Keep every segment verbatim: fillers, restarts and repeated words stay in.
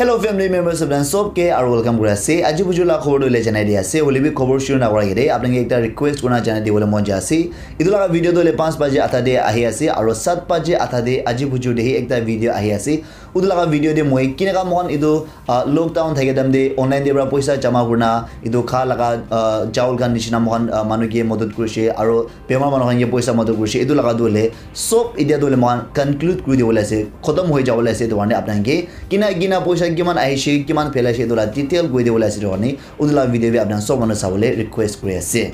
Hello family members, apni khan sob ke aru welcome kuri ase. Aji buju la khobor tu le janai di ase. Hoile bi khobor shuru na kora agete apni khan ke ekta request kurna janai dibole mon jai ase. Etu laga video tu le panch baje adha te ahi ase aru sat baje adha te aji buju te hi ekta video ahi ase. Utu laga video te moi kineka moikhan etu, ah, lockdown thake time te online te para poisa jama kurina etu kha laga, ah, chawl khan nishina moikhan, ah, manu ke madad kurishe aru bemar manu khan ke poisa madad kurishe, etu laga tu hoile sob etia tu hoile moikhan conclude kuri dibole ase, khotom hoi jabole ase. Etu karne apni khan ke kina kina poisa kiman ahishe, kiman phelaishe, etu la detail kuri dibole ase. Etu karne utu laga video bi apni khan sob manu sabole request kuri ase.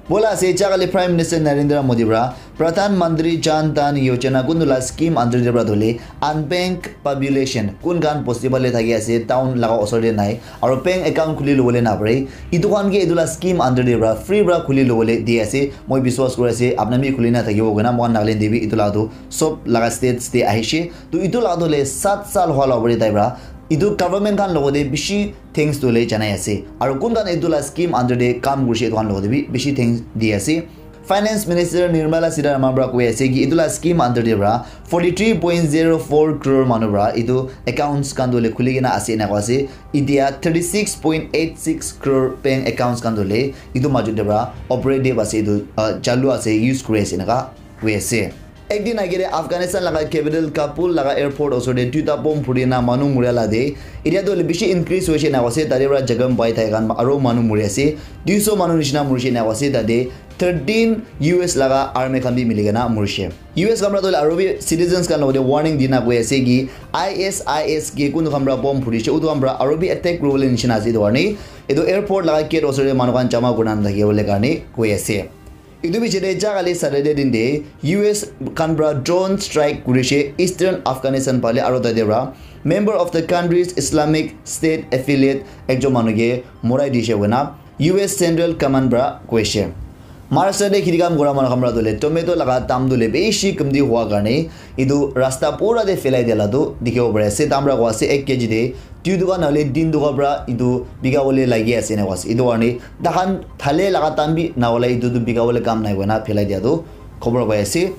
Bola ase, ja kali Prime Minister Narendra Modi para Pradhan Mantri Jan Dhan Yojana kuntu la scheme under te para dhuli unbanked population kun khan bosti phale thaki ase, town laga osor te nai, aru bank account khuli lobole na pare. Etu khan ke etu la scheme under te para free para khuli lobole di ase. Moi biswas kuri ase, apni bi khuli na thakibo koina. Moikhan Nagaland te bi etu la tu sob laga states te ahishe. To etu la tu le sat sal hwa la pare tai para. Etu government khan logote bishi thanks tu le janai ase. Aru kun khan etu la scheme under te kam kurishe etu khan logote bi bishi thanks di ase. Finance Minister Nirmala Sitharaman para koi ase ki etu la scheme under te para forty three point zero four crore manu para etu accounts khan tu le khuli kena ase ena koi ase. Etia thirty six point eight six crore bank accounts khan tu le etu majot te para operative ase, etu, ah, chalu ase, use kuri ase eneka koi ase. Ekdin agere Afghanistan laga capital Kabul laga airport osor te duita bomb phuri na manu muria la de. Etia tu hoile bishi increase hoise na ase, tate para jaga pai thai khan aru manu muri ase. Duiso manu nishina murishe na ase tate. Thirteen U S laga army khan bi mili kena murishe. U S khan para tu hoile aru bi citizens khan logote warning dina koi ase ki I S I S ke kunu khan para bomb phurishe, utu khan para aru bi attack kuribole nishina ase. Etu karne etu airport laga gate osor te manu khan jama kurina nathakibole karne koi ase. Etu bichete ja kali Saturday din te U S khan para drone strike kurishe Eastern Afghanistan phale aru tate para member of the country's Islamic State affiliate ekjon manu ke morai dishe koina U S Central Command para koishe. Maharashtra te khiti kam kura manu khan para tu le tomato laga dam tu le bishi kamti hua karne etu rasta pura te phelai dia la tu dikhibo pari ase. Tam para koi ase ek K G te dui toka nahole tin toka para etu bika bole lagi ase ena koi ase. Etu karne takhan thale laga time bi nahola etu tu bika bole kam nai koina phelai dia tu khobor pai ase.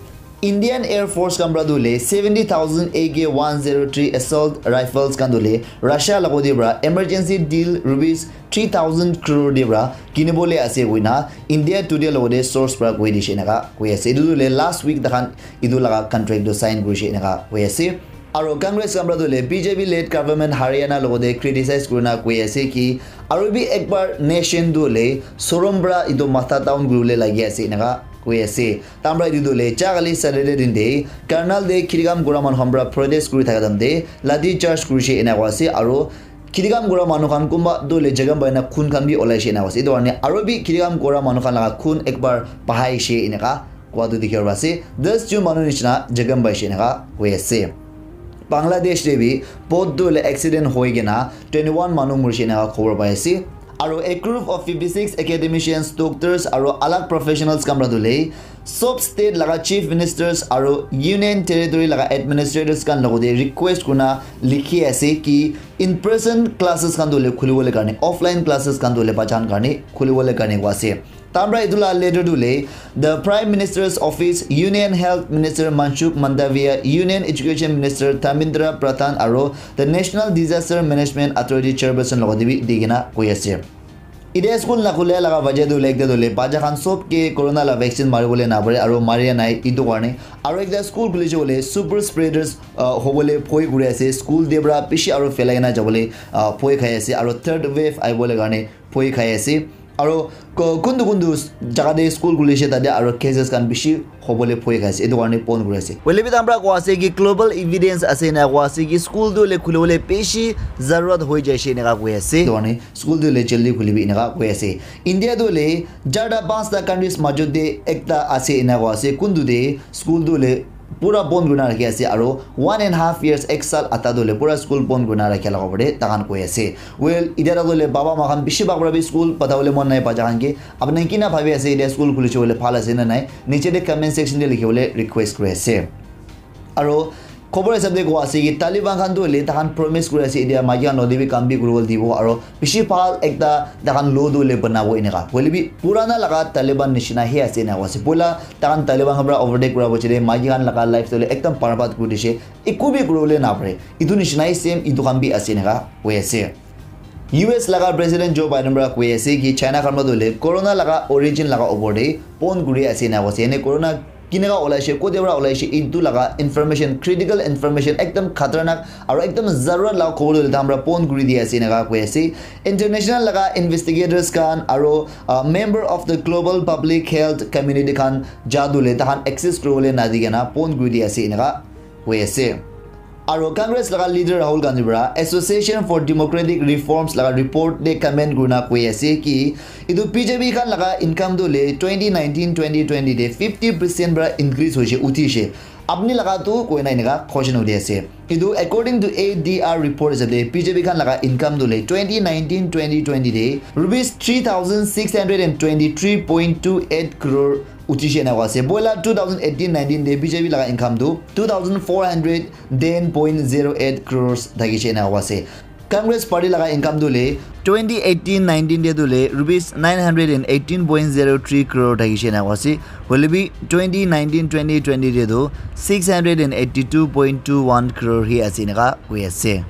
Indian Air Force khan para tu le seventy thousand A K one zero three assault rifles khan tu le Russia logote para emergency deal rupees three thousand crore te para kinibole ase koina India Today logote source para koi dishe eneka koi ase. Etu tu le last week takhan etu laga contract tu sign kurishe eneka koi ase. Aru Congress khan para tu le B J P led government Haryana logote criticize kurina koi ase ki aru bi ekbar nation tu le sorom para etu matha down kuribole lagi ase eneka koi ase. Tam para etu tu le ja kali Saturday din te Karnal te khiti kam kura manu khan para protest kuri thaka time te lathi charge kurishe ena koi ase. Aru khiti kam kura manu khan kunba tu le jaga pai na khun khan bi olaishe ena koi ase. Etu karne aru bi khiti kam kura manu khan laga khun ekbar bahaishe eneka kua tu dikhi ase. Das jon manu nishina jakham paishe eneka koi ase. Bangladesh te bi boat tu le accident hoi kena twenty one manu murishe eneka khobor pai ase. Aru a group of fifty six academicians, doctors aru alag professionals khan para tu le sob state laga chief ministers aru union territory laga administrators khan logote request kurina likhi ase ki in person classes khan tu le khulibole karne, offline classes khan tu le bachan karne khulibole karne koi ase. Tam para etu la letter tu le, the Prime Minister's Office, Union Health Minister Mansukh Mandaviya, Union Education Minister Dharmendra Pradhan aru the National Disaster Management Authority Chairperson logote bi di kena koi ase. Etia school nakhule laga wajah tu le ekta tu le bacha khan sob ke corona la vaccine maribole napare aru maria nai etu karne. Aru ekta school khulise koile super spreaders, ah, hobole bhoi kuri ase. School te para bishi aru phelai kena jabole, ah, bhoi khai ase aru third wave ahibole karne bhoi khai ase. Aru ko-, kuntu kuntu jaga te school khulise tate aru cases khan bishi hobole bhoi khai ase, etu karne bon kuri ase. Hoile bi tam para koi ase ki global evidence ase ena koi ase ki school tu hoile khulibole bishi zarurat hoi jaise eneka koi ase. Etu karne school tu hoile jaldi khulibi eneka koi ase. India tu hoile charta panchta countries majot te ekta ase ena koi ase. Kuntu te school tu hoile pura bon kurina rakhi ase aru one and half years, ek sal adha tu hoile pura school bon kurina rakhi laga opor te takhan koi ase. Well, etia tak tu hoile baba ma khan bishi bhag para bi school patabole mon nai bacha khan ke. Apni kina bhabi ase etia school khulise koile bhal ase na nai? Niche te comment section te likhi bole request kuri ase. Aru Khobor hisab de koa ase ki Taliban khan tu hoile tahan promise kuri ase, etia maiki khan lode bi kam bi kuribole dibo aro bishi bhal ekta tahan law tu hoile banabo eneka. Hoile bi purana laga Taliban nishina he ase eneka koa ase. Poila tahan Taliban khan pra overtake kura boche de maiki khan laga life tu hoile ekdam barbad kuri dishe, eku bi kuribole napare. Etu nishina he same etu khan bi ase eneka koi ase. U S laga President Joe Biden pra koi ase ki China khan pra tu hoile corona laga origin laga opor de pon kuri ase eneka koa ase. Ene corona kineka olaishe, kote pra olaishe, etu laga information, critical information, ekdam khatarnak aro ekdam zarurat laga khobor tu tahan pra pon kuri di ase eneka koi ase. International laga investigators khan aro, uh, member of the Global Public Health Community khan ja tu hoile tahan access kuribole nadi kena pon kuri di ase eneka koi ase. Aro Congress laga leader Rahul Gandhi pra Association for Democratic Reforms laga report de comment kurina koi ase ki etu B J P khan laga income tu hoile twenty nineteen twenty twenty de fifty percent pra increase hoishe, uthishe. Apni laga tu koi na eneka question uthi ase. Etu according to A D R report hisab de B J P khan laga income tu hoile twenty nineteen twenty twenty de rupees three thousand six hundred and twenty three point two eight crore uthishe eneka koa ase. Poila two thousand eighteen nineteen de B J P laga income tu two thousand four hundred ten point zero eight crores thakishe eneka koa ase. Congress party laga income tu hoile twenty eighteen nineteen de tu hoile rupees nine hundred and eighteen point zero three crore thakishe eneka koa ase. Hoile bi twenty nineteen twenty twenty de tu six hundred and eighty two point two one crore he ase eneka koi ase.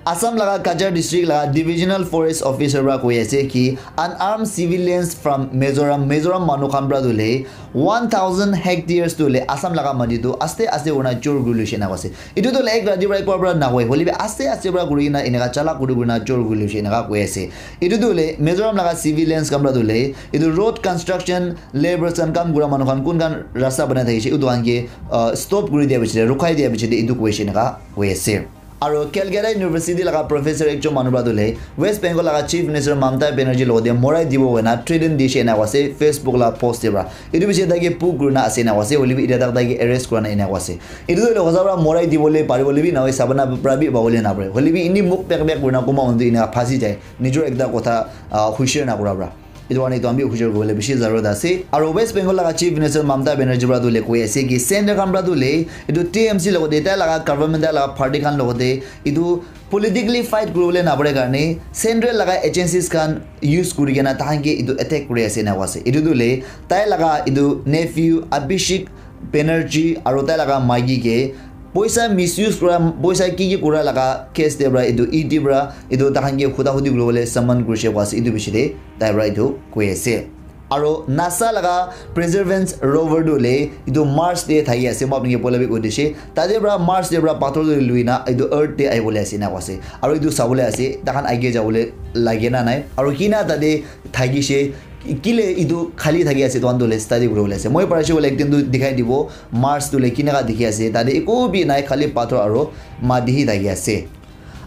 Assam laga Cachar district laga divisional forest officer pra koi ase ki unarmed civilians from Mizoram, Mizoram manu khan pra tu hoile one thousand hectares tu hoile Assam laga mati tu aste aste kurina chor kuri loishe eneka koa ase. Etu tu hoile ek rati pra ek pra pra nahoi, hoile bi aste aste pra kuri kena eneka chalak kuri kuri na chor kuri loishe eneka koi ase. Etu tu hoile Mizoram laga civilians khan pra tu hoile etu road construction labours khan kam kura manu khan kun khan rasta banai thakishe etu khan ke, uh, stop kuri dia piche de, rukhai dia piche de etu koishe eneka koi ase. Aro Calcutta University laga professor ekjon manu pra tu hoile West Bengal laga Chief Minister Mamata Banerjee logode morai dibo koina threaten dishe eneka koa ase Facebook la post de pra. Etu piche tai ke puk kurina ase eneka koa ase, hoile bi etia tak tai ke arrest kurina eneka koa ase. Etu tu hoile hosa pra morai dibole paribole bi nahoi, sabana pra bi pabole napare. Hoile bi eni muk pek pek kurina kunba manu tu eneka phasi jai, nijor ekta kotha, ah, hushar nakura pra. Etu karne etu khan bi hushar kuribole bishi zarurat ase. Aro West Bengal laga Chief Minister Mamata Banerjee pra tu hoile koi ase ki center khan pra tu hoile etu T M C logode, tai laga government, tai laga party khan logode etu politically fight kuribole napare karne central laga agencies khan use kuri kena tahan ke etu attack kuri ase eneka koa ase. Etu tu hoile tai laga etu nephew Abhishek Banerjee aro tai laga maiki ke poisa misuse kura, poisa ki ki kura laga case de pra etu E D pra etu tahan ke huda hudi kuribole summon kurishe koa ase, etu piche de tai pra etu koi ase. Aro NASA laga Perseverance rover tu hoile etu Mars de thaki ase, moi apni ke poila bi koi dishe. Tate pra Mars de pra pathor tu lui na etu Earth de ahibole ase eneka koa ase. Aro etu sabole ase, tahan age jabole lage na nai. Aro kina tate thakishe, kile etu khali thaki ase, etu khan tu hoile study kuribole ase. Moi parishe koile ekdin tu dikhai dibo, Mars tu hoile kineka dikhi ase. Tate eku bi nai, khali pathor aro mati hi thaki ase.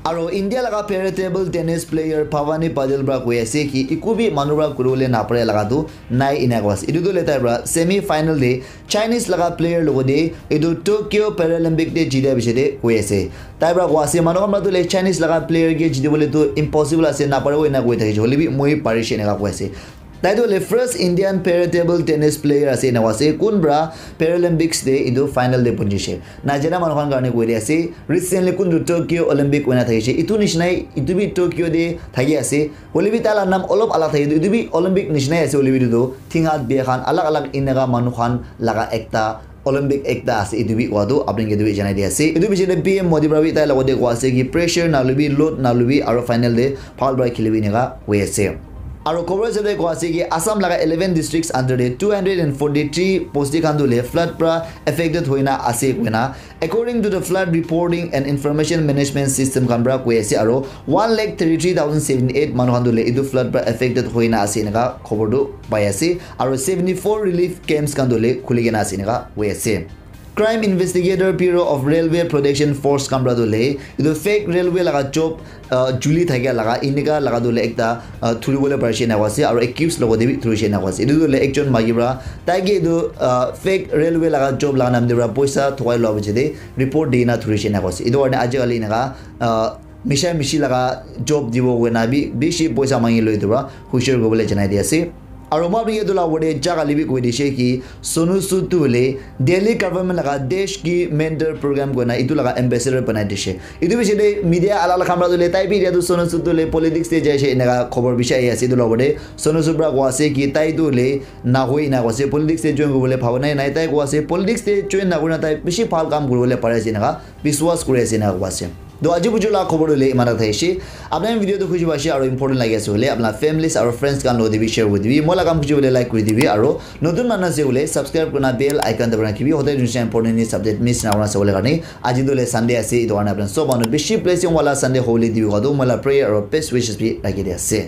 Aro India laga para table tennis player Bhavani Patil pra koi ase ki eku bi manu pra kuribole napare laga tu nai eneka koa ase. Etu tu hoile tai pra semi final de Chinese laga player logode etu Tokyo Paralympic de jitia piche de koi ase. Tai pra koa ase, manu khan pra tu hoile Chinese laga player ke jitibole tu impossible ase, naparibo eneka koi thakishe, hoile bi moi parishe eneka koi ase. Tai tu hoile first Indian para table tennis player ase eneka ase, kun pra Paralympics de etu final de punjishe. Najana manu khan karne koi de ase, recently kun tu Tokyo Olympic hoina thakishe, etu nishina he etu bi Tokyo de thaki ase. Hoile bi tai la naam olop alag thake, etu bi Olympic nishina he ase, hoile bi etu tu thing hat bia khan alag alag eneka manu khan laga ekta Olympic ekta ase, etu bi koa tu apni ke etu bi janai di ase. Etu piche de P M Modi pra bi tai logode koa ase ki pressure nalobi, load nalobi, aro final de bhal pra khelibi eneka koi ase. Aro khobor hisab de koa ase ki Assam laga eleven districts under de two hundred and forty three bosti khan tu hoile flood pra affected hoina ase koina, according to the Flood Reporting and Information Management System khan pra koi ase, aro one lakh thirty three thousand seventy eight manu khan tu hoile etu flood pra affected hoina ase eneka khobor tu pai ase, aro seventy four relief camps khan tu hoile khuli kena ase eneka koi ase. Crime Investigator Bureau of Railway Protection Force khan pra tu hoile etu fake railway laga job, ah, juli thakia laga eneka laga tu hoile ekta, ah, thuribole parishe eneka ase, aro accused logode bi thurishe eneka ase. Etu tu hoile ekjon maiki pra tai ke etu, ah, fake railway laga job laga naam de pra poisa thokai lua piche de report di kena thurishe eneka ase. Etu karne aji kali eneka, ah, misha mishi laga job dibo koina bi bishi poisa mangi loi etu pra hushar kuribole janai di ase. Aro moi apni etu la opor te jaga libi koi dishe ki Sonu Sood tu hoile Delhi government laga Desh Ki Mandir program koina etu laga ambassador banai dishe. Etu bishi te media ala la khamra tu le tai bi etu Sonu Sood tu le politics te jai she enaka khobor bishi ahi ase etu la opor te. Sonu Sood pra koa ase ki tai tu le na hoi na koa ase politics te join kuribole bhaba nai nai tai koa ase politics te join na kurina tai bishi bhal kam kuribole pari ase enaka biswas kuri ase enaka koa ase. To aji buju la khobor tu le iman tak thakishi. Apni video tu khushi paise aro important lagi ase hoile apna families aro friends khan lo de bi share kuri dibi. Moi la kam khushi hoile like kuri dibi aro notun manu ase hoile subscribe kurina bell icon dabai rakhibi. Hote dunsa important news update miss na kurina sabole karne. Aji tu le Sunday ase etu karne apna sob manu bishi blessing wala Sunday hole dibi koa tu moi la prayer aro best wishes bi rakhi di ase.